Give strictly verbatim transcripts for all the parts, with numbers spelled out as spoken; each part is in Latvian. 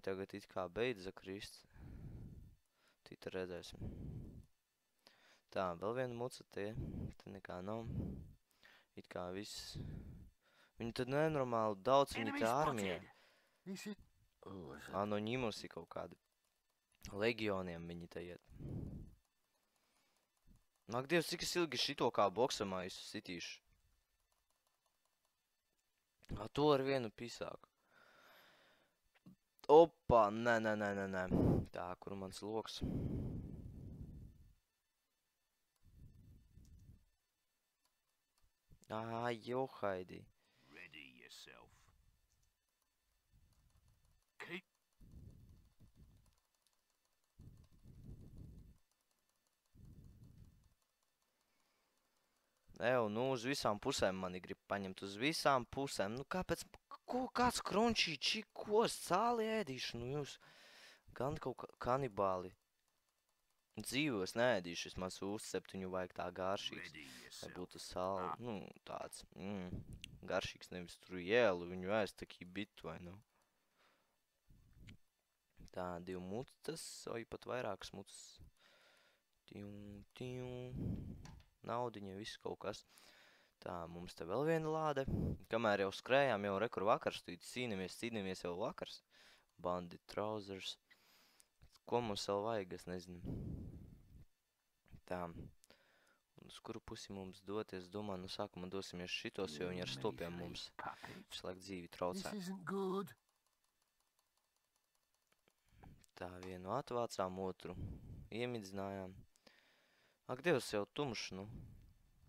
tagad it kā beidza krist. Tita redzēsim. Tā, vēl viena muca tie. Te nekā nav. It kā viss. Viņi tad nenormāli daudz, viņi te armijā. Anonimusi kaut kādi. Legioniem viņi te iet. Nāk, Dievs, cik es ilgi šito kā boksamā es sitīšu. A, to ar vienu pisāku. Opa, nē, nē, nē, nē, nē. Tā, kur mans loks? Ā, johaidī. Ready yourself. Keep. Ew, nu uz visām pusēm mani grib paņemt, uz visām pusēm. Nu kāpēc, ko, kāds krončī, čikos, sāli ēdīšu, nu jūs gan kaut kā kanibāli. Dzīvos neēdīšu, es maz uzceptiņu vajag tā garšīgs. Lai būtu sāli, nu tāds, mm, garšīgs, nevis tur jēlu, viņu ēst takī bitu, vai nu. Tā, divi mutas, vai pat vairākas mutas. Tiu, tiu. Naudiņa, viss kaut kas. Tā, mums te vēl viena lāde. Kamēr jau skrējām, jau rekur vakars, tu cīnamies, cīnamies jau vakars. Bandit trousers. Ko mums vēl vajag, es nezinu. Tā. Un uz kuru pusi mums doties, domāju, nu sākumā dosimies šitos, jo viņi ar stopiem mums visu laiku dzīvi traucē. Tā, vienu atvācām, otru iemidzinājām. Ak, Dievs, jau tumšs, nu.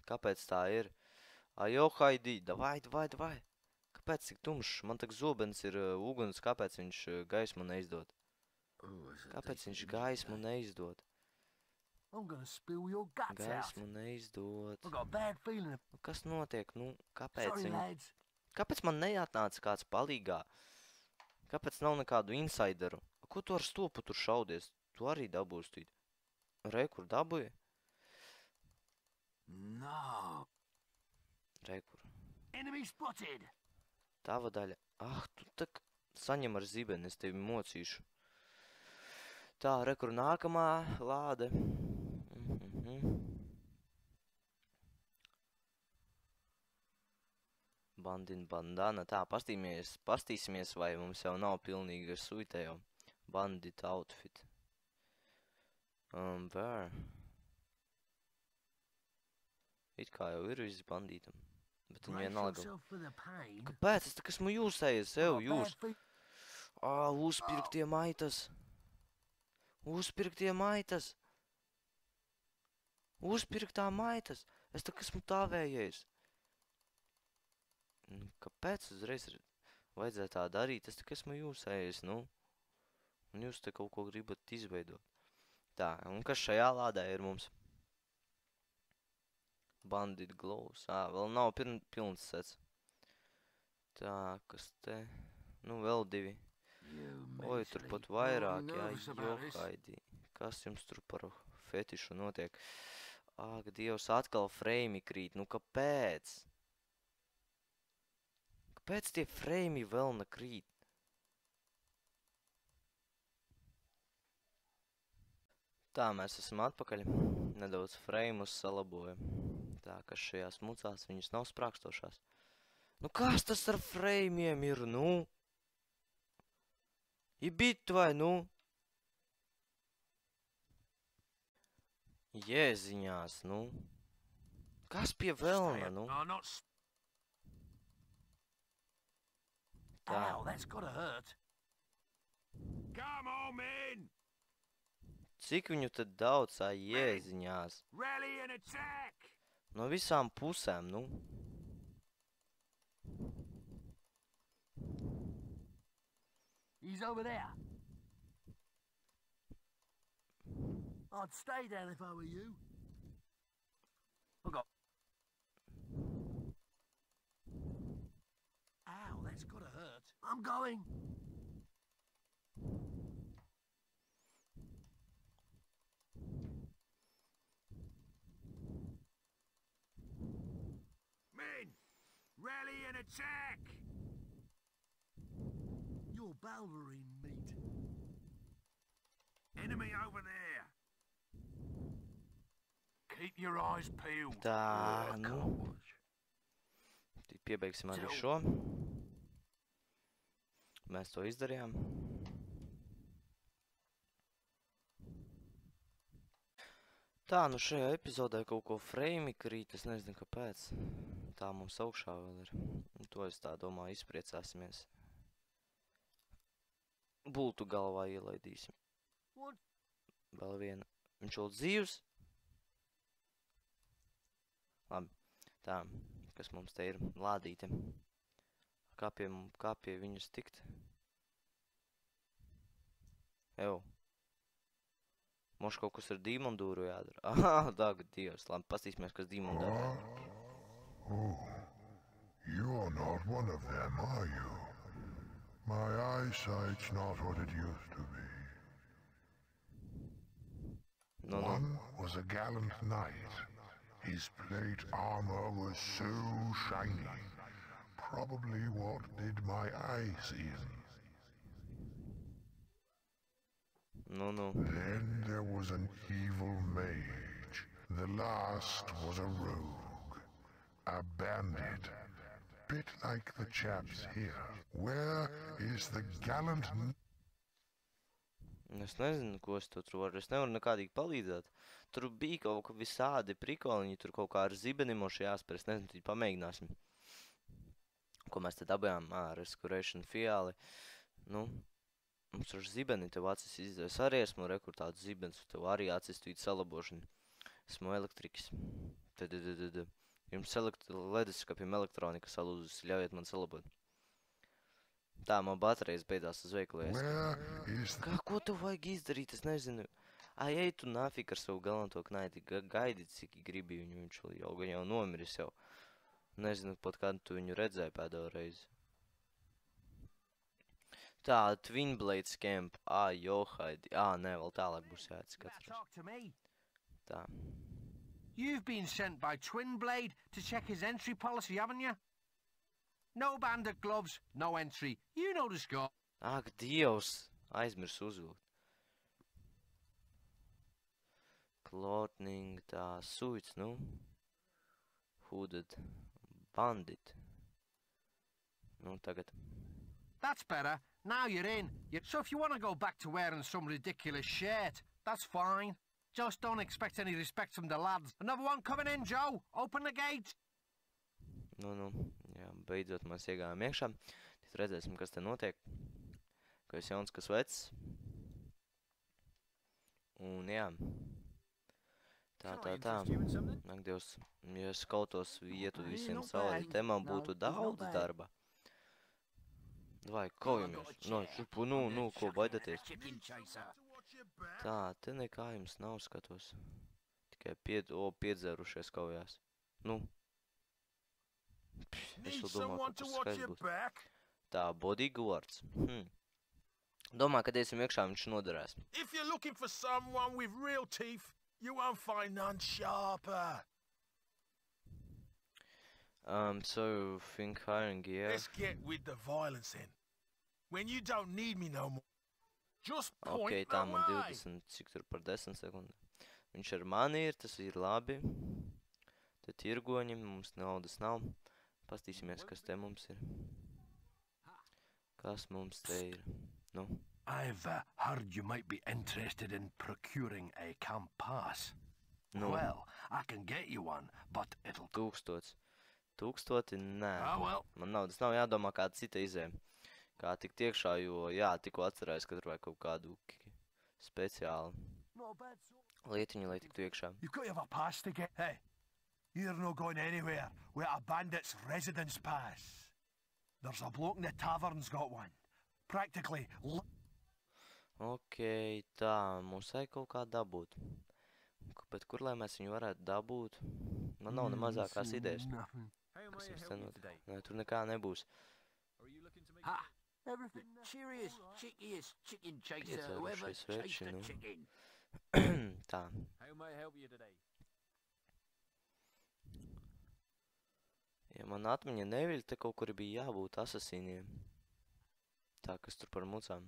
Kāpēc tā ir? Ajo, haidī, davai, davai, davai. Kāpēc tik tumšs? Man tak zobens ir uh, uguns, kāpēc viņš uh, gaismu neizdod? Kāpēc viņš gaismu neizdod? Gaismu neizdod. Nu, kas notiek? Nu, kāpēc viņi... Kāpēc man neatnāca kāds palīgā? Kāpēc nav nekādu insideru? Ko tu ar stopu tur šaudies? Tu arī dabūstīt. Re, kur dabūji? No. Rekur. Enemy spotted. Tava daļa. Ah, tu tak saņem ar zibeni, es tevi mocīšu. Tā, rekur nākamā lāde. Mm-hmm. Bandin bandana. Tā, pastīsimies, pastīsimies, vai mums jau nav pilnīga suite jau. Bandit outfit. Um, where? It kā jau ir visi bandītam. Bet viņi vienalga. Kāpēc? Es tak esmu jūsējies, ev, jūs. Ā, uzpirktie maitas. Uzpirktie maitas. Uzpirktā maitas. Es tak esmu tāvējies. Kāpēc uzreiz vajadzēja tā darīt? Es tak esmu jūsējies, nu. Un jūs te kaut ko gribat izveidot. Tā, un kas šajā lādē ir mums? Bandit glows. Ā, vēl nav piln, pilns sets. Tā, kas te? Nu, vēl divi. Oi, tur pat vairāk, jā, johaidī. Kas jums tur par fetišu notiek? Ak, Dievs, atkal freimi krīt. Nu, kāpēc? Kāpēc tie freimi vēl nekrīt? Tā, mēs esam atpakaļ. Nedaudz freimus salaboja. Tā, kas šajās mucās, viņas nav sprākstošās. Nu, kas tas ar freimiem ir, nu? Ibit vai, nu? Jēziņās, nu? Kas pie velna, nu? Tā. Ow, that's gotta hurt. Come on, men! Cik viņu tad daudz, ā, jēziņās? Rally and attack! No visām pusēm, nu. He's over there. I'd stay down if I were you. I got. Ow, that's gotta hurt. I'm going. Men, rally and attack! Evil Balverine meat. Enemy over there. Keep your eyes peeled. Tā, nu. Tik piebeigsim arī šo. Mēs to izdarījām. Tā, nu šajā epizodē kaut ko frame krīt, es nezinu, kāpēc. Tā mums augšā vēl ir. To es tā domāju, izpriecāsimies. Bultu galvā ielaidīsim. Vēl viena. Viņš vēl dzīvs? Labi. Tā, kas mums te ir? Lādīte. Kā pie, kā pie viņas tikt? Ew. Mums kaut kas ar dīmondūru jādara. Aha, dāga Dievs. Labi, pastīsimies, kas dīmondūru jādara. Oh, you're not one of them, are you? My eyesight's not what it used to be. No, no. One was a gallant knight. His plate armor was so shiny. Probably what did my eyes in. No, no. Then there was an evil mage. The last was a rogue. A bandit. Bit like the chaps here. Where is the gallant... Es nezinu, ko es tur varu. Es nevaru nekādīgi palīdzēt. Tur bija kaut kā visādi prikoliņi, tur kaut kā ar zibenimoši jāspēr. Es nezinu, tad pamēģināsim. Ko mēs te dabējām? Ā, Restoration fiāli. Nu, mums tur zibeni tev acis izdevē. Es arī esmu rekur tādu zibens, tev arī acis tu īt salabošanu. Esmu elektrikas. Tad, tad, tad, tad. Jums leduskapiem elektronika salūzis, ļaujiet man salabot. Tā, man baterijas beidzās uz veikalu. Kā, ko tev vajag izdarīt, es nezinu. Ai, ej tu nafik ar savu galanto knaiti, gaidi, cik gribi viņu, viņš jau, jau nomiris jau. Nezinu, pat kādu tu viņu redzēji pēdējo reizi. Tā, Twin Blades Camp, ā, johaidi, ā, nē, vēl tālāk būs jāatskatās. Tā. You've been sent by Twin Blade to check his entry policy, haven't you? No bandit gloves, no entry. You know the score. Ak, Dievs! Aizmirs uzvilkt. Clothing, tā, suits, nu. Hooded. Bandit. Nu, tagad. That's better. Now you're in. You're... So if you want to go back to wearing some ridiculous shirt, that's fine. Just don't expect any respect from the lads. Another one coming in, Joe. Open the gate. Nu, nu, jā, beidzot mēs iegājām iekšā. Tad redzēsim, kas te notiek. Kas jauns, kas vecs. Un jā. Tā, tā, tā. Ak, Dievs, ja es kautos vietu visiem sauli, te man būtu daudz darba. Vai, kaujamies. No, šupu, nu, nu, ko baidaties? Tā, te nekā jums nav, skatos. Tikai pied, o, piedzērušies kaujās. Nu. Es vēl domāju, ka tas skaits būs. Tā, bodyguards. Hm. Domā, kad iesim iekšā, viņš noderēs. If you're looking for someone with real teeth, you won't find none sharper. Um, so, think hiring gear. Let's get with the violence then. When you don't need me no more. Just point Ok, tā man divdesmit, cik tur par desmit sekundi. Viņš ar mani ir, tas ir labi. Te tirgoņi, mums naudas nav. Pastīsimies, kas te mums ir. Kas mums te ir? Nu? I've uh, heard you might be interested in procuring a camp pass. Nu? Well, I can get you one, but it'll... Tūkstots. Tūkstoti? Nē. Oh, well. Man naudas nav jādomā kāda cita izēja. Kā tikt iekšā, jo, jā, tikko atcerēs, ka tur vajag kaut kādu speciālu lietiņu, lai tiktu iekšā. You've got to have a pass to get... Hey, you're not going anywhere without a bandit's residence pass. There's a bloke in the tavern's got one. Practically... Ok, tā, mums vajag kaut kā dabūt. Bet kur, lai mēs viņu varētu dabūt? Man nav ne mazākās idejas. Kas jums te notiek? Nē, tur nekā nebūs. Ha! Everything cheeriest, chickiest chicken chaser who ever chased a chicken. Tā. How may I help you today? Ja man atmiņa neviļ, te kaut kur bija jābūt asasīniem. Tā, kas tur par mucām?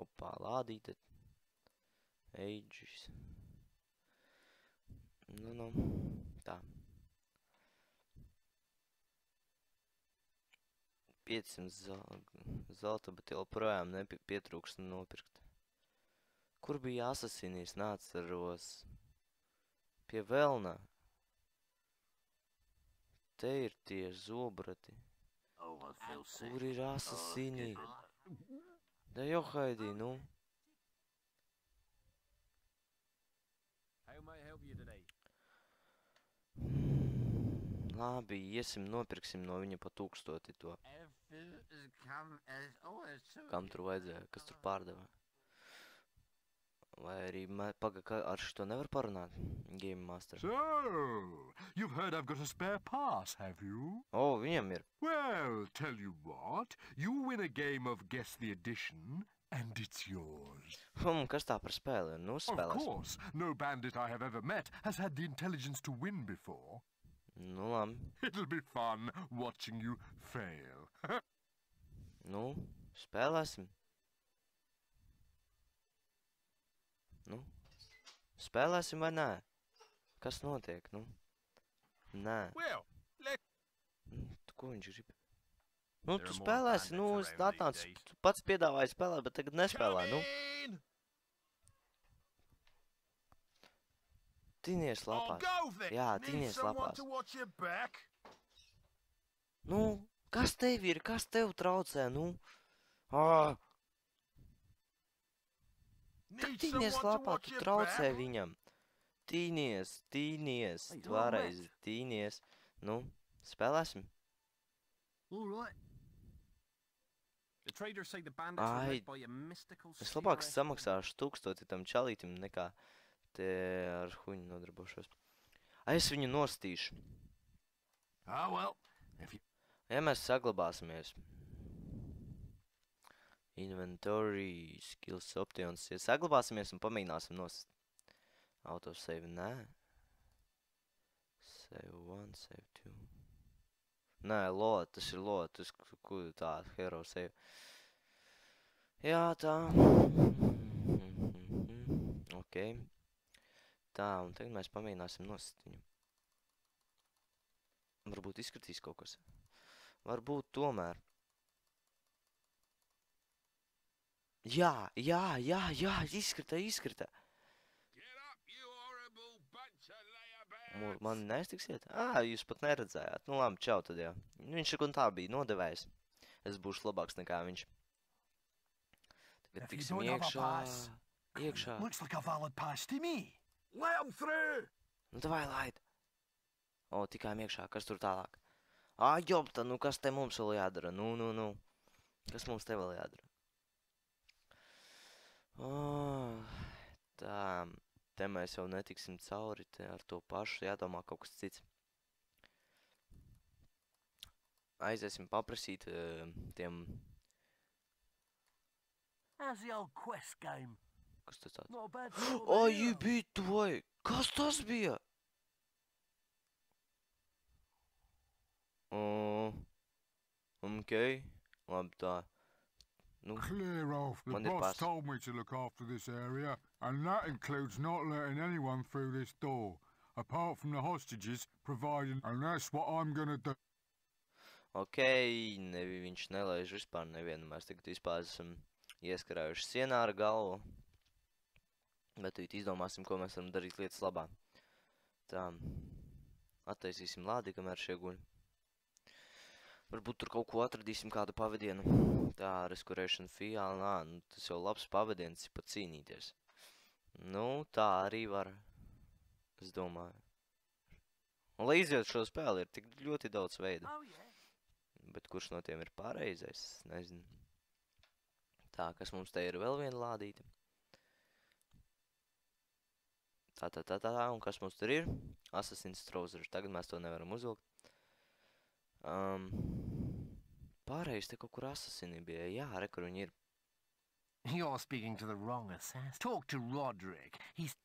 Opā, lādīte. Ages. Nu, nu, tā. piecsimt zelta, bet joprojām nepietrūkst nopirkt. Kur bija asasinīs? Neatceros. Pie velna. Te ir tie zobrati. Kur ir asasinī? Da jau haidī, nu. Labi, iesim, nopirksim no viņa pa tūkstoti to. Kam tur vajadzēja, kas tur pārdeva? Vai arī paga, ar šito nevar parunāt? Game Master. So, you've heard I've got a spare pass, have you? O, viņam ir. Well, tell you what, you win a game of Guess the Edition, and it's yours. Hmm, kas tā par spēli? Nu, spēlēs. Of course, no bandit I have ever met has had the intelligence to win before. Nu, labi. It'll be fun watching you fail. Nu, spēlēsim. Nu, spēlēsim vai nē? Kas notiek, nu? Nē. Well, let... Tu, ko viņš grib? Nu, tu spēlēsi, nu, es atnācu, tu pats piedāvāji spēlēt, bet tagad nespēlē, nu. Tinies lapās. Jā, tinies lapās. Nu, kas tev ir? Kas tev traucē, nu? Ā! Tad tinies lapā, tu traucē viņam. Tīnies, tīnies, vēlreiz tīnies. Nu, spēlēsim? Ai, es labāk samaksāšu tūkstoti tam čalītim nekā te ar huņu nodarbošos. Ai, es viņu nostīšu. Ah, well, if you... Ja mēs saglabāsimies. Inventory, skills, options. Ja saglabāsimies un pamēģināsim nost. Autosave, nē. Save one, save two. Nē, lot, tas ir lot, tas tā, hero save. Jā, tā. Ok. Tā, un tagad mēs pamēģināsim nost viņu. Varbūt izskatīs kaut kas. Varbūt tomēr. Jā, jā, jā, jā, izskrita, izskrita. Man nestiksiet? Ā, jūs pat neredzējāt. Nu labi, čau tad jā. Viņš ir un tā bija nodevējis. Es būšu labāks nekā viņš. Tagad tiksim iekšā. Iekšā. Nu davai laid. O, tikām iekšā, kas tur tālāk? Ā, jopta, nu kas te mums vēl jādara? Nu, nu, nu. Kas mums te vēl jādara? Oh, tā, te mēs jau netiksim cauri, te ar to pašu jādomā kaut kas cits. Aiziesim paprasīt uh, tiem... How's the old quest game? Kas tas tāds? Ai, bitu vai! Kas tas bija? Uh, ok, labi tā. Nu, clear off. The boss told me to look after this area, and that includes not letting anyone through this door, apart from the hostages providing, and that's what I'm gonna do. Ok, nevi viņš nelaiž vispār nevienu. Mēs tagad vispār esam ieskarājuši sienā ar galvu. Bet tad izdomāsim, ko mēs varam darīt lietas labā. Tā, attaisīsim lādi, kamēr šie guļ. Varbūt tur kaut ko atradīsim, kādu pavadienu. Tā, Restoration Fiala, nā, nu, tas jau labs pavadiens ir pat cīnīties. Nu, tā arī var, es domāju. Un, lai iziet šo spēli, ir tik ļoti daudz veidu. Bet kurš no tiem ir pareizais, nezinu. Tā, kas mums te ir vēl viena lādīte. Tā, tā, tā, tā, un kas mums tur ir? Assassin's Trousers, tagad mēs to nevaram uzvilkt. Um, pārējais te kaut kur assassini bija. Jā, re, kur viņi ir. You're speaking to the wrong assassin. Talk to Roderick. He's...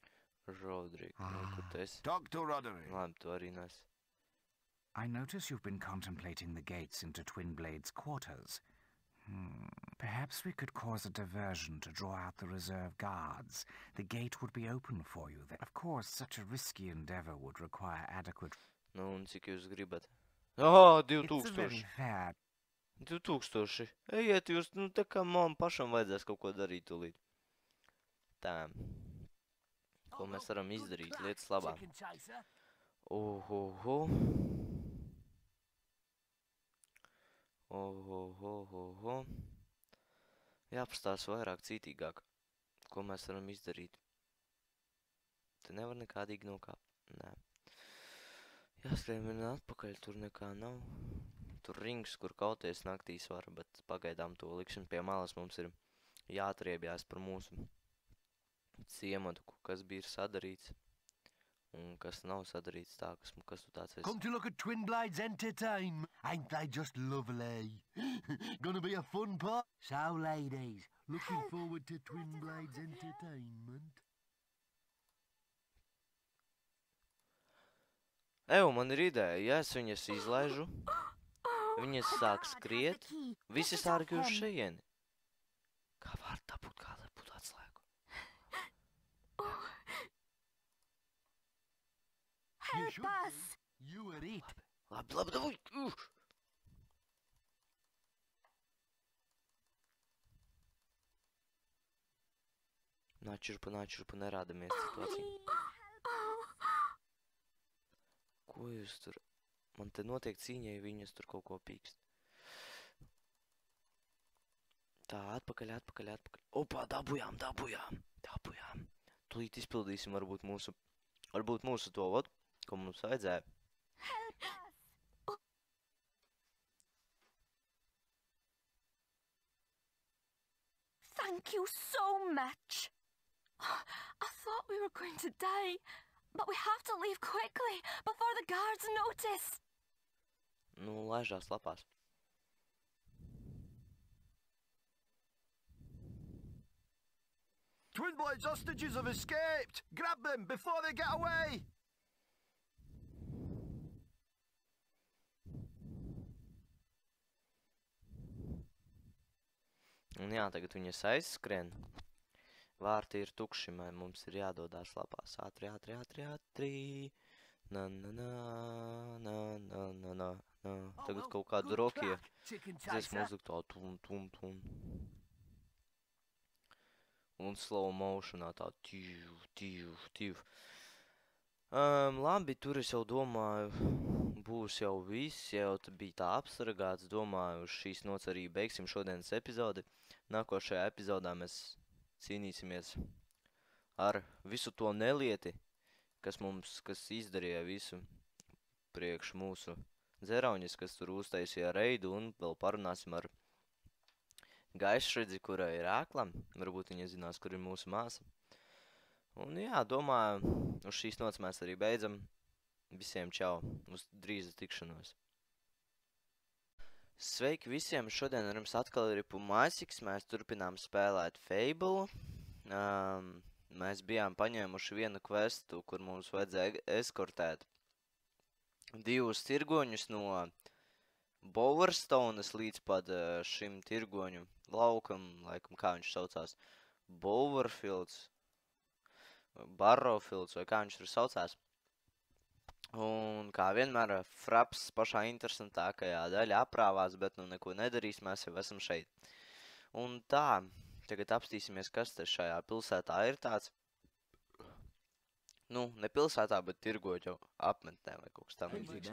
Roderick, nu, kur tu esi? Talk to Roderick. Labi, tu arī nes. I notice you've been contemplating the gates into Twin Blade's quarters. Hmm. Perhaps we could cause a diversion to draw out the reserve guards. The gate would be open for you then. Of course, such a risky endeavor would require adequate... Nu, un cik jūs gribat? Oh, divi It's a very tūkstoši. fair... Divi tūkstoši. Ejiet jūs, nu tā kā man pašam vajadzēs kaut ko darīt tūlīt. Tā. Ko mēs varam izdarīt lietas labā? Ohoho. Ohohoho. Jāpastās vairāk cītīgāk. Ko mēs varam izdarīt? Te nevar nekādīgi nokāpt. Nē. Jāskrien vien atpakaļ, tur nekā nav. Tur rings, kur kauties naktīs var, bet pagaidām to liksim pie malas. Mums ir jāatriebjās par mūsu ciematu, kas bija sadarīts un kas nav sadarīts tā, kas, kas tu tāds esi. Come to look at Twin Blades Entertainment. Ain't they just lovely? Gonna be a fun part. So, ladies, looking forward to Twin Blades Entertainment. Eju, man ir ideja, ja es viņas izlaižu, viņas sāk skriet, visi sārgi uz šejieni. Kā var dabūt kādā būt atslēgu? Help us! You are it. Labi, labi, dabuj! Uh! Nāčurpa, nāčurpa, nerādamies situāciju. Ko jūs tur? Man te notiek cīņa, ja viņas tur kaut ko pīkst. Tā, atpakaļ, atpakaļ, atpakaļ. Opā, dabujām, dabujām, dabujām. Tūlīt izpildīsim varbūt mūsu, varbūt mūsu to, ot, ko mums vajadzēja. Thank you so much. I thought we were going to die. But we have to leave quickly, before the guards notice. Nu, laižās lapās. Twin Blades hostages have escaped! Grab them before they get away! Un jā, tagad viņas aizskrien. Vārti ir tukši, mums ir jādodās lapās. Ātri, ātri, ātri, ātri. Na, na, na, na, na, na, na, na. Tagad kaut kādu rokie. Dzies mūziku tā tum, tum, tum. Un slow motionā tā tīv, tīv, tīv. Um, labi, tur es jau domāju, būs jau viss, jau bija tā apsargāts. Domāju, uz šīs nots arī beigsim šodienas epizodi. Nākošajā epizodā mēs cīnīsimies ar visu to nelieti, kas mums, kas izdarīja visu priekš mūsu dzerauņas, kas tur uztaisīja reidu, un vēl parunāsim ar Gaišredzi, kura ir ēkla. Varbūt viņa zinās, kur ir mūsu māsa. Un jā, domāju, uz šīs nots mēs arī beidzam. Visiem čau, uz drīz tikšanos. Sveiki visiem, šodien ar jums atkal ir Pumasiks, mēs turpinām spēlēt Fable. Um, mēs bijām paņēmuši vienu questu, kur mums vajadzēja eskortēt divus tirgoņus no Bowerstones līdz pat uh, šim tirgoņu laukam, laikam kā viņš saucās, Bowerfields, Barrowfields vai kā viņš tur saucās. Un kā vienmēr, Fraps pašā interesantākajā daļā aprāvās, bet nu neko nedarīs, mēs jau esam šeit. Un tā, tagad apstīsimies, kas te šajā pilsētā ir tāds. Nu, ne pilsētā, bet tirgoģu apmetnē vai kaut kas tam līdzīgs.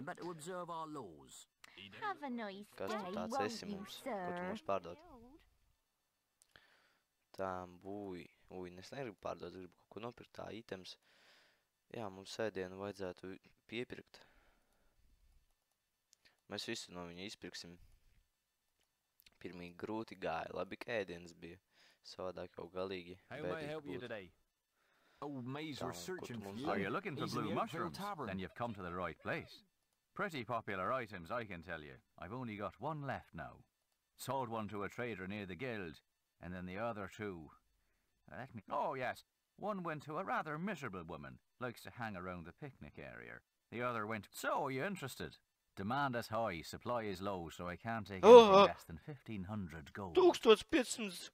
Kas tu tāds esi mums, ko tu mums pārdod? Tā, būj, uj, es negribu pārdot, gribu kaut ko nopirkt, tā items. Jā, mums ēdienu vajadzētu piepirkt. Mēs visu no viņa izpirksim. Pirmīgi grūti gāja, labi, ka ēdienas bija. Savādāk jau galīgi bēdīgi būtu. Old Maze were searching for you. Are you looking for blue mushrooms? Then you've come to the right place. Pretty popular items, I can tell you. I've only got one left now. Sold one to a trader near the guild, and then the other two. Let me... Oh, yes. One went to a rather miserable woman, likes to hang around the picnic area. The other went... So, are you interested? Demand is high, supply is low, so I can't take Oh, anything uh, less than fifteen hundred gold. tūkstoš piecsimt.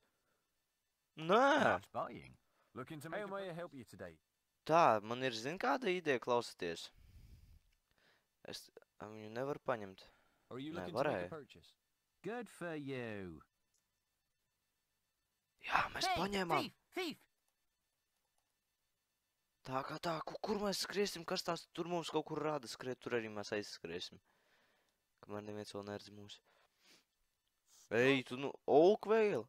Nē. Not buying. Looking to make How may I help you today? Tā, man ir, zin, kāda ideja klausoties. Es viņu nevaru paņemt. Are you Nē, looking to make a varēju. purchase? Good for you. Jā, mēs Hey, paņēmām. thief, thief! Tā kā tā, ku- kur mēs skriesim, kas tās tur mums kaut kur rāda skriet, tur arī mēs aizskriesim. Kamēr neviens vēl neredz mūs. Ej, tu nu, Oakvale?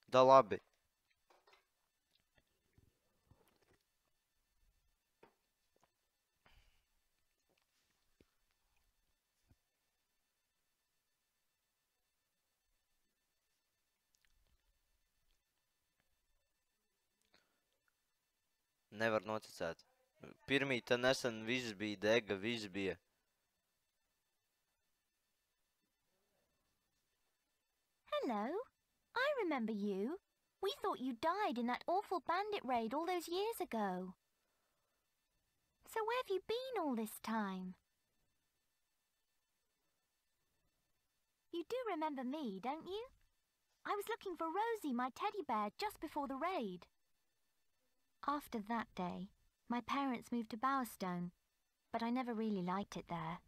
Da labi. Nevar noticēt. Pirmīta nesen viss bija dega, viss bija. Hello. I remember you. We thought you died in that awful bandit raid all those years ago. So where have you been all this time? You do remember me, don't you? I was looking for Rosie, my teddy bear, just before the raid. After that day, my parents moved to Bowerstone, but I never really liked it there.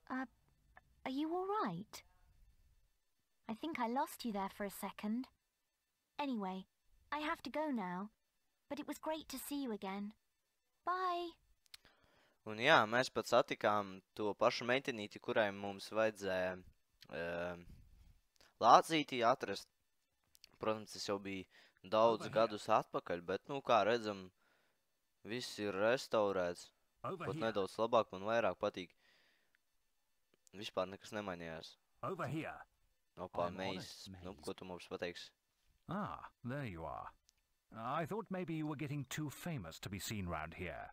Uh, are you all right? I think I lost you there for a second. Anyway, I have to go now, but it was great to see you again. Bye! Un jā, mēs pat satikām to pašu meitenīti, kurai mums vajadzēja uh, lācītī atrast. Protams, tas jau bija daudz gadus atpakaļ, bet, nu, kā redzam, viss ir restaurēts. Pat nedaudz labāk, man vairāk patīk. Vispār nekas nemainījās. Over here. Opā, mēs, nu, ko tu mums pateiksi? Ah, there you are. I thought maybe you were getting too famous to be seen round here.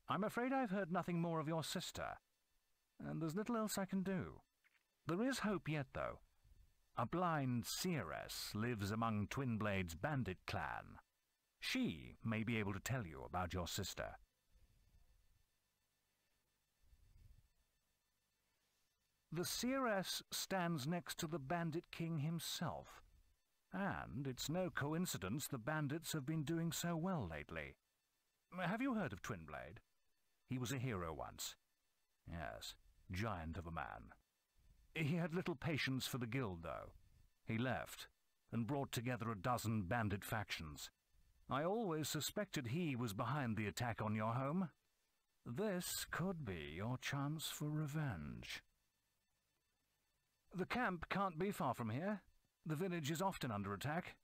I'm afraid I've heard nothing more of your sister, and there's little else I can do. There is hope yet, though. A blind seeress lives among Twinblade's bandit clan. She may be able to tell you about your sister. The seeress stands next to the bandit king himself, and it's no coincidence the bandits have been doing so well lately. Have you heard of Twinblade? He was a hero once. Yes, giant of a man. He had little patience for the guild, though. He left, and brought together a dozen bandit factions. I always suspected he was behind the attack on your home. This could be your chance for revenge. The camp can't be far from here. The village is often under attack.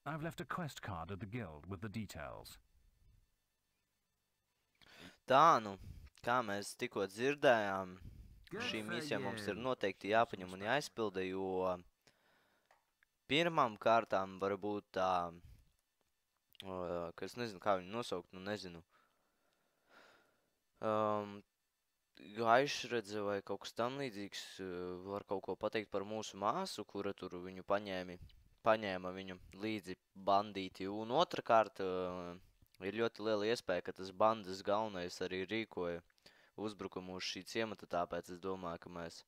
I've left a quest card at the guild with the details. Tā, nu, kā mēs tikko dzirdējām, šī misija mums ir noteikti jāpaņem un jāizpilda, jo pirmām kārtām varbūt tā, ka es nezinu, kā viņu nosaukt, nu nezinu, um, gaišredze vai kaut kas tam līdzīgs, var kaut ko pateikt par mūsu māsu, kura tur viņu paņēmi, paņēma viņu līdzi bandīti, un otrkārt ir ļoti liela iespēja, ka tas bandas galvenais arī rīkoja uzbrukumu uz šī ciemata, tāpēc es domāju, ka mēs,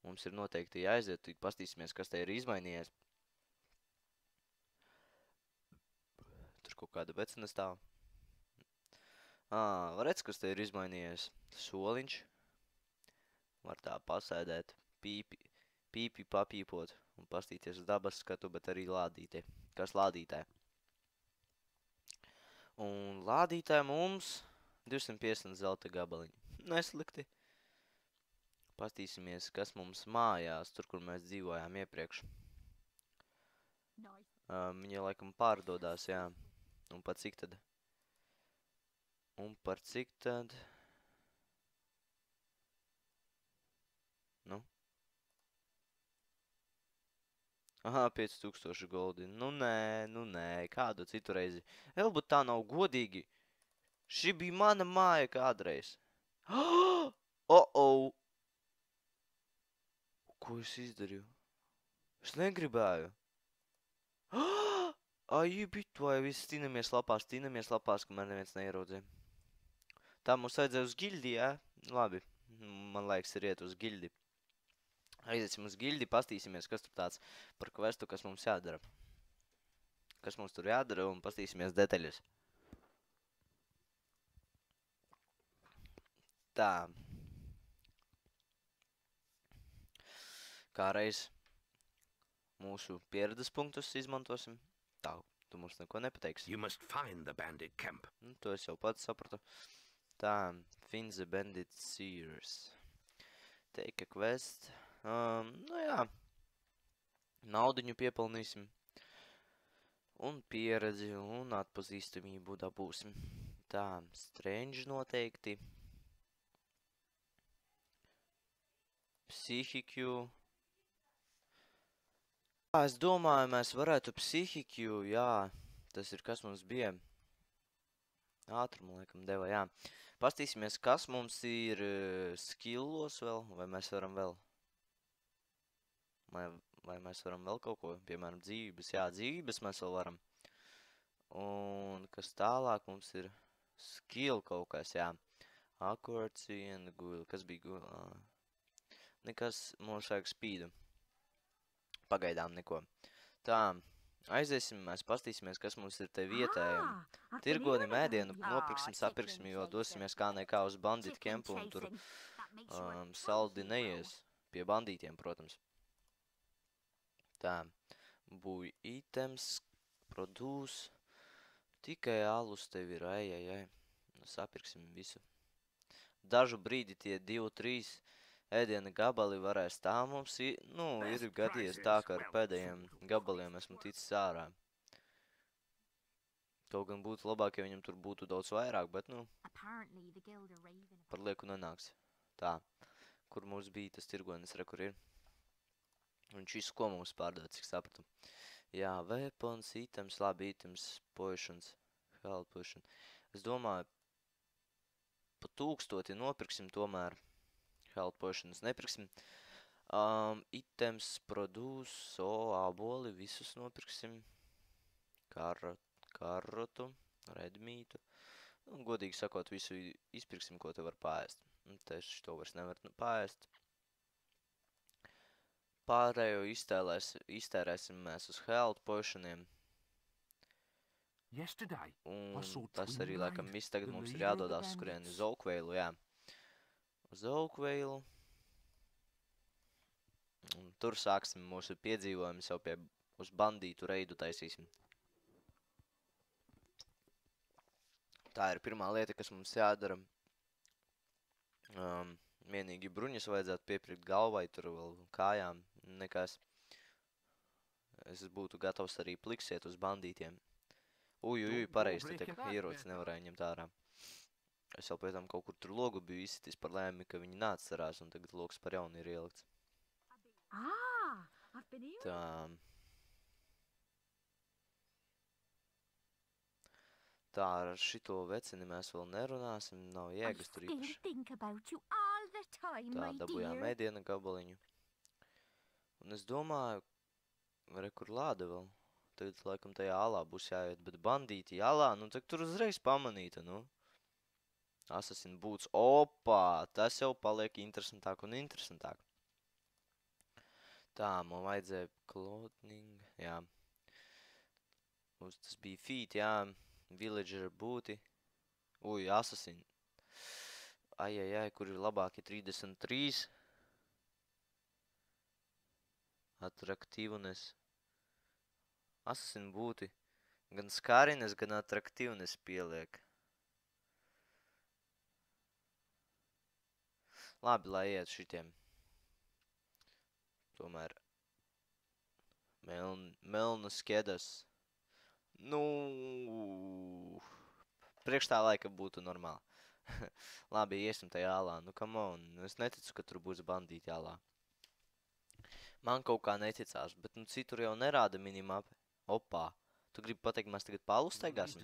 mums ir noteikti jāaiziet, pastīsimies, kas te ir izmainījies. Tur kaut kāda vecina stāv. Ā, redz, kas te ir izmainījies? Soliņš. Var tā pasēdēt, pīpi, pīpi papīpot un pastīties uz dabas skatu, bet arī lādītē. Kas lādītē? Un lādītē mums divsimt piecdesmit zelta gabaliņi. Neslikti. Pastīsimies, kas mums mājās, tur, kur mēs dzīvojām iepriekš. Um, viņa laikam pārdodās, jā. Un par cik tad? Un par cik tad? Nu? Aha, pieci tūkstoši goldi. Nu nē, nu nē, kādu citu reizi. Elbūt tā nav godīgi. Šī bija mana māja kādreiz. Oh, oh! Ko es izdarīju? Es negribēju. Ai, bit, vai visi stīnamies lapās, stīnamies lapās, kamēr neviens neieraudzē. Tā mums vajadzēja uz gildi, jā? Labi, man laiks ir iet uz gildi. Aiziesim uz gildi, pastīsimies, kas tur tāds par questu, kas mums jādara. Kas mums tur jādara un pastīsimies detaļas. Tā. Kā reiz mūsu pieredzes punktus izmantosim. Tā, tu mums neko nepateiksi. You must find the bandit camp. Nu, to es jau pats sapratu. Tā, find the bandit seers. Take a quest. Um, nu jā. Naudiņu piepelnīsim. Un pieredzi un atpazīstamību dabūsim. Tā, strange noteikti. Psihiku. Jā, es domāju, mēs varētu psihiku, jā. Tas ir, kas mums bija. Ātrumu, laikam, deva, jā. Pastīsimies, kas mums ir skillos vēl, vai mēs varam vēl. Vai, vai mēs varam vēl kaut ko, piemēram, dzīvības. Jā, dzīvības mēs vēl varam. Un kas tālāk mums ir skill kaut kas, jā. Accuracy and guil. Kas bija guil? Nekas, mums vajag spīdu. Pagaidām neko. Tā, aiziesim, mēs pastīsimies, kas mums ir te vietējiem. Tirgonim ēdienu nopirksim, sapirksim, jo dosimies kā nekā uz bandītu kempu un tur um, saldi neies. Pie bandītiem, protams. Tā, buj items, produce. Tikai alus tev ir, ai, ai, ai. Sapirksim visu. Dažu brīdi tie divi, trīs ēdiena gabali varēs tā mums, nu, ir gadījies tā, ka ar pēdējiem gabaliem esmu ticis ārā. Kaut gan būtu labāk, ja viņam tur būtu daudz vairāk, bet, nu, par lieku nenāks. Tā, kur mums bija tas tirgonis, re, kur ir. Viņš visu, ko mums pārdod, cik sapratu. Jā, weapons, items, labi, items, potions, health potion. Es domāju, pa tūkstoti nopirksim tomēr. Health potions nepirksim. Um, items, produce, so, āboli, visus nopirksim. Karot, karotu, redmītu. Un, godīgi sakot, visu izpirksim, ko te var pārēst. Tieši to vairs nevar pārēst. Pārējo iztēlēs, iztērēsim mēs uz health potioniem. Un tas arī, laikam, viss tagad mums ir jādodās uz kurieni uz Oakvailu, jā. Uz Oakvailu. Un tur sāksim mūsu piedzīvojumus jau pie uz bandītu reidu taisīsim. Tā ir pirmā lieta, kas mums jādara. Um, vienīgi bruņas vajadzētu piepirkt galvai, tur vēl kājām, nekas. Es būtu gatavs arī pliksiet uz bandītiem. Uj, uj, uj, pareizi, te tiek ierocis nevarēja ņemt ārā. Es jau pēc tam kaut kur tur logu biju izsitis par lēmi, ka viņi neatcerās, un tagad logs par jaunu ir ielikts. Tā. Tā, ar šito vecini mēs vēl nerunāsim, nav jēgas tur īpaši. Tā, dabujām ēdiena gabaliņu. Un es domāju, re, kur lāda vēl. Tagad, laikam, tajā alā būs jāiet, bet bandīti alā, nu, tak tur uzreiz pamanīta, nu. Assassin boots, opā, tas jau paliek interesantāk un interesantāk. Tā, man vajadzēja clothing, jā. Mums tas bija feet, jā. Villager būti. Uj, assassin. Ai, ai, ai, kur ir labāki trīsdesmit trīs. Atraktīvnes. Assassin būti. Gan skārines, gan atraktīvnes pieliek. Labi, lai iet šitiem. Tomēr. Meln, melnas kedas. Nu, priekš tā laika būtu normāli. Labi, iesim tajā alā. Nu, come on. Es neticu, ka tur būs bandīti alā. Man kaut kā neticās, bet nu citur jau nerāda minimapi. Opā. Tu gribi pateikt, mēs tagad pa alu staigāsim?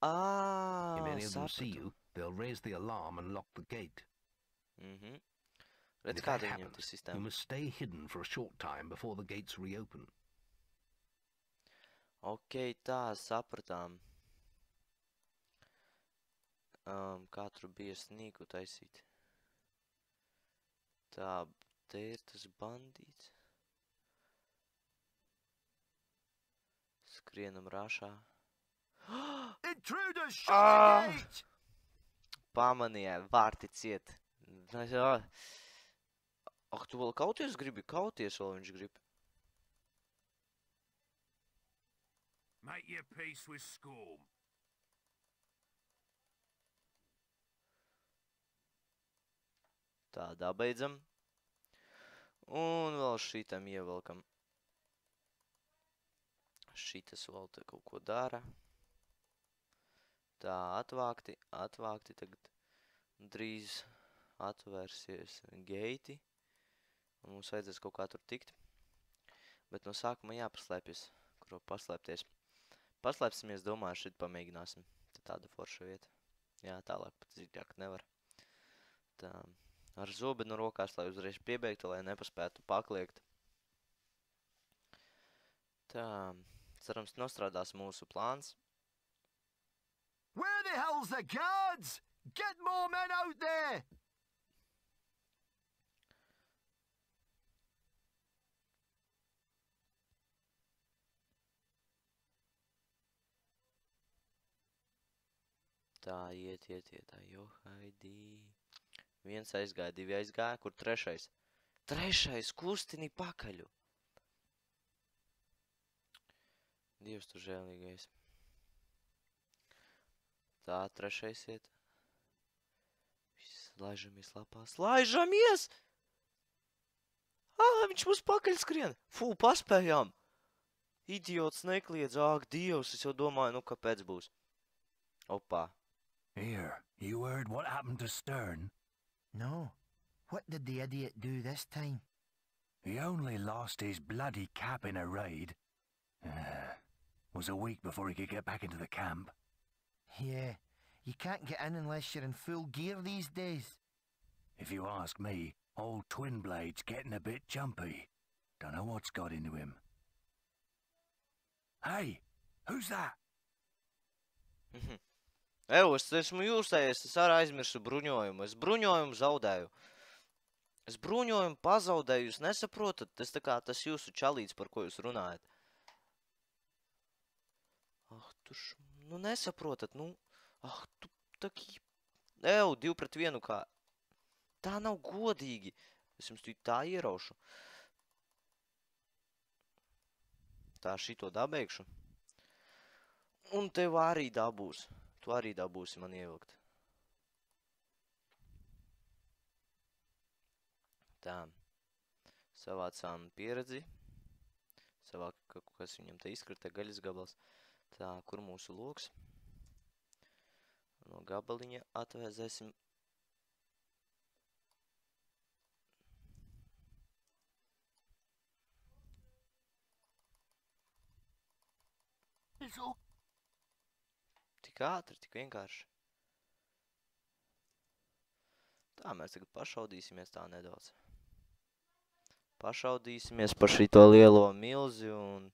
Ā, sapratu. Mhm. Redz, kāda viņam tas sistēma. You must stay hidden for a short time before the gates reopen. Ok, tā, sapratām. Um, kā tur bija snīku taisīt? Tā, te ir tas bandīts. Skrienam rāšā. Intruders, shut the gate! Pamanīja, vārti ciet. Ak, tu vēl kauties gribi? Kauties vēl viņš grib. Make your peace with Scorm. Tā, dabeidzam. Un vēl šitam ievelkam. Šitas vēl te kaut ko dara. Tā, atvākti, atvākti, tagad drīz atvērsies geiti. Un mums vajadzēs kaut kā tur tikt. Bet no sākuma jāpaslēpjas, kur paslēpties. Paslēpsimies, domāju, šeit pamēģināsim. Te tāda forša vieta. Jā, tālāk pat dziļāk nevar. Tā, ar zobenu rokās, lai uzreiz piebeigtu, lai nepaspētu pakliegt. Tā, cerams, nostrādās mūsu plāns. Where the hell's the guards? Get more men out there! Tā, iet, iet, iet, tā, jo, haidī. Viens aizgāja, divi aizgāja, kur trešais? Trešais, kustini pakaļu. Dievs tu žēlīgais. Tā, trešais iet. Viss, laižamies lapās, laižamies! Ā, viņš mums pakaļ skrien. Fū, paspējām. Idiots nekliedz, āk, Dievs, es jau domāju, nu, kāpēc būs. Opā. Here, you heard what happened to Stern? No. What did the idiot do this time? He only lost his bloody cap in a raid. Uh, was a week before he could get back into the camp. Yeah, you can't get in unless you're in full gear these days. If you ask me, old Twinblade's getting a bit jumpy. Don't know what's got into him. Hey, who's that? Evo, es esmu jūsējies, es arī aizmirsu bruņojumu. Es bruņojumu zaudēju. Es bruņojumu pazaudēju, jūs nesaprotat? Tas tā kā tas jūsu čalīts, par ko jūs runājat. Ah, tu š... Nu, nesaprotat, nu... Ah, tu taki... Evo, divu pret vienu kā... Tā nav godīgi. Es jums tu tā ieraušu. Tā, šito dabeigšu. Un tev arī dabūs. Tu arī dabūsi man ievilkt. Tā. Savācām pieredzi. Savāk, kas viņam te izkrita gaļas gabals. Tā, kur mūsu loks? No gabaliņa atvēzēsim. It's all... Tik ātri, tik vienkārši. Tā, mēs tagad pašaudīsimies tā nedaudz. Pašaudīsimies par šito lielo milzi un...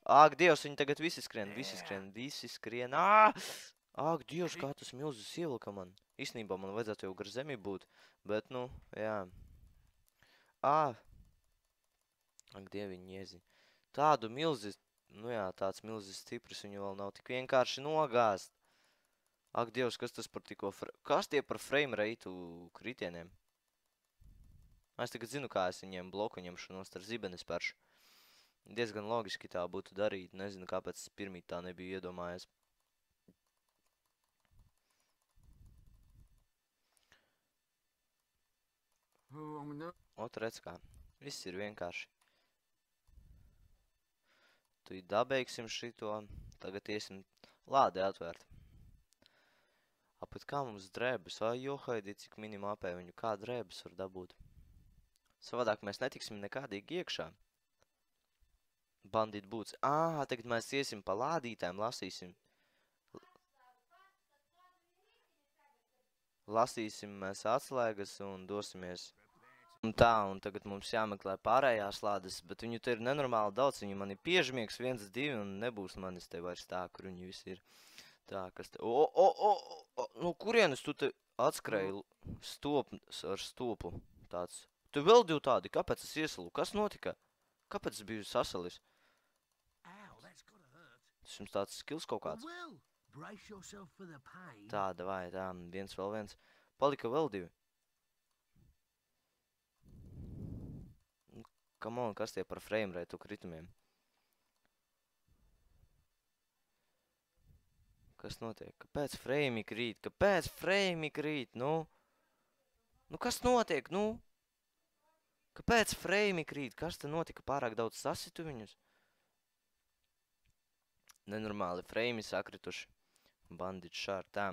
Āk, Dievs, viņi tagad visi skrien, visi skrien, visi skrien. Ā! Āk, Dievs, kā tas milzis ievilka man. Īstenībā man vajadzētu jau gar zemi būt, bet, nu, jā. Ā! Ak, Dieviņ, jēzi. Tādu milzi... Nu jā, tāds milzis stipris, viņu vēl nav tik vienkārši nogāzt. Ak, Dievs, kas tas par tikko... Kas tie par frame reitu kritieniem? Es tagad zinu, kā es viņiem bloku ņemšanos ar zibeni spēršu. Diezgan logiski tā būtu darīt. Nezinu, kāpēc es pirmīt tā nebiju iedomājies. Ot, redz kā. Viss ir vienkārši. Tu dabeigsim šito, tagad iesim lādi atvērt. Apēc kā mums drēbes, vai johaidī, cik minimā apē viņu, kā drēbes var dabūt. Savādāk mēs netiksim nekādīgi iekšā. Bandīt būts. Ā, tagad mēs iesim pa lādītēm, lasīsim. Lasīsim mēs atslēgas un dosimies. Un tā, un tagad mums jāmeklē pārējās lādes, bet viņu te ir nenormāli daudz, viņi man ir piežmiegs, viens, divi, un nebūs manis te vairs tā, kur viņi visi ir. Tā, kas te... O, o, o, o, no kurienes tu te atskrēji stop ar stopu tāds? Tu vēl divi tādi, kāpēc es iesalu? Kas notika? Kāpēc es biju sasalis? Tas jums tāds skills kaut kāds? Tā, davai, tā, viens vēl viens. Palika vēl divi. Come on, kas tie par frame rate kritumiem? Kas notiek? Kāpēc frame krīt? Kāpēc frame krīt? Nu? Nu, kas notiek? Nu? Kāpēc frame krīt? Kas te notika? Pārāk daudz sasitu viņus? Nenormāli frame sakrituši. Bandit šār, tā.